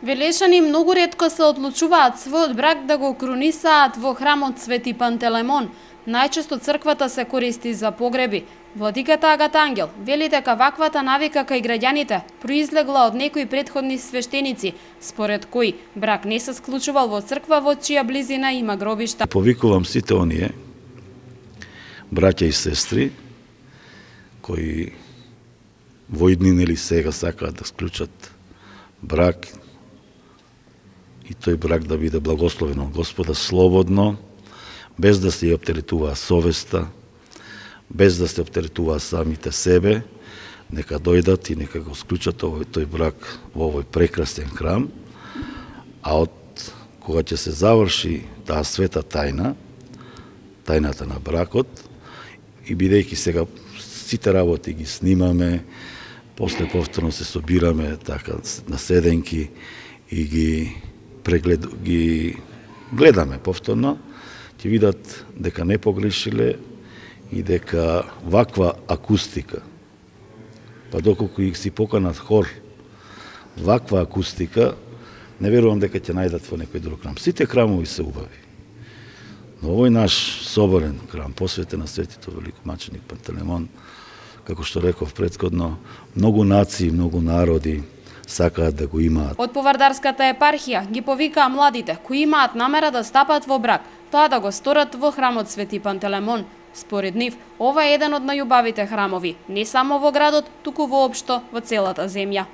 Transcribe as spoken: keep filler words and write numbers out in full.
Велешани многу ретко се одлучуваат својот брак да го крунисаат во храмот Свети Пантелемон. Најчесто црквата се користи за погреби. Владиката Агата Ангел вели дека ваквата навика кај граѓаните произлегла од некои претходни свештеници, според кои брак не се склучувал во црква во чија близина има гробишта. Повикувам сите оние браќа и сестри кои во иднина или сега сакаат да склучат брак и тој брак да биде благословен од Господа слободно, без да се ја оптеретуваа совеста, без да се оптеретуваа самите себе, нека дојдат и нека го склучат овој тој брак во овој прекрасен храм, а од кога ќе се заврши таа света тајна, тајната на бракот, и бидејќи сега сите работи ги снимаме, после повторно се собираме така на седенки и ги преглед ги гледаме повторно, ќе видат дека не погрешиле и дека ваква акустика, па доколку их си поканат хор, ваква акустика, не верувам дека ќе најдат во некој друг храм. Сите храмови се убави. Но овој наш соборен храм, посветен на светито великомаченик Пантелемон, како што реков претходно, многу нации, многу народи сакаат да го имаат. Од Повардарската епархија ги повикаа младите кои имаат намера да стапат во брак, тоа да го сторат во храмот Свети Пантелемон. Според нив, ова е еден од најубавите храмови, не само во градот, туку воопшто во целата земја.